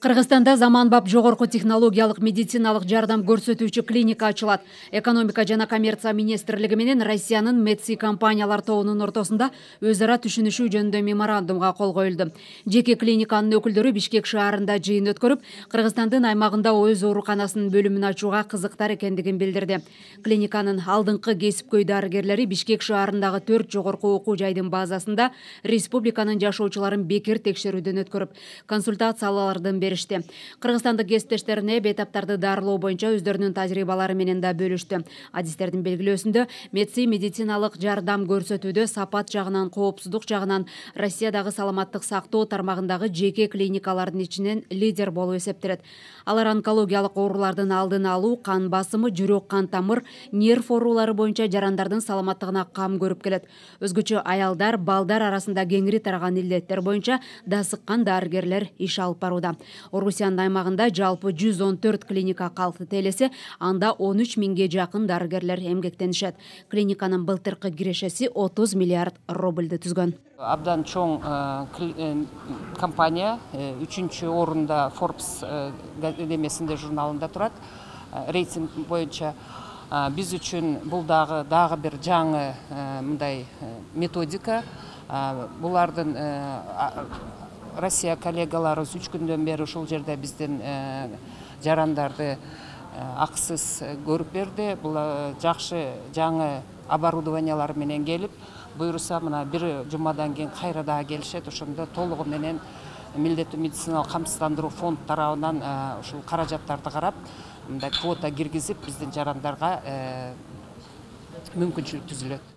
Кыргызстанда заманбап жогорку технологиялык медициналык жардам көрсөтүүчү клиника ачылат. Экономика жана коммерция министрлиги менен Россиянын Медси компаниялар тобунун ортосунда өз ара түшүнүшүү жөнүндө меморандумга кол коюлду. Жеке клиниканын өкүлдөрү Бишкек шаарында жыйын өткөрүп, Кыргызстандын аймагында өз ооруканасынын бөлүмүн ачууга кызыктар экендигин билдирди. Клиниканын алдыңкы кесипкөй дарыгерлери Бишкек шаарындагы 4 жогорку окуу жайдын базасында республиканын жашоочуларын бекер текшерүүдөн өткөрүп, консультациялардын беришти. Кыргызстандык кесиптештерине бейтаптарды дарылоо боюнча өздөрүнүн тажрыйбалары менен да бөлүштү. Адистердин белгилөөсүндө Медси медициналык жардам көрсөтүүдө сапат жагынан, коопсуздук жагынан Россиядагы саламаттык сактоо тармагындагы жеке клиникалардын ичинен лидер болуп эсептелет. Алар онкологиялык оорулардын алдын алуу, кан басымы, жүрөк кан тамыр, нерв оорулары боюнча жарандардын саламаттыгына кам көрүп келет. Өзгөчө аялдар, балдар арасында кеңири тараган илдеттер боюнча дасыккан дарыгерлер иш алып барууда. Орусиянын аймагында жалпы 114 клиника калкты элесе, анда 13 миңге жакын дарыгерлер эмгектенишет. Клиниканын былтыркы кирешеси 30 миллиард рубльды түзгөн. Абдан чоң компания 3-чү орунда Forbes демесинде журналында турат. Рейтинг боюнча биз үчүн бул дагы бир жаңы мындай методика. Булардын Россия коллегаларыбыз 3 күндөн бери ушул жерде биздин жарандарды акысыз көрүп берди. Бул жакшы жаңы оборудованиялар менен келип, буюрса мына бир жумадан кийин кайра дагы келишет. Ошондо толугу менен милдеттүү медициналык камсыздандыруу фонд тарабынан ушул каражаттарды карап, мындай квота киргизип, биздин жарандарга мүмкүнчүлүк түзүлөт.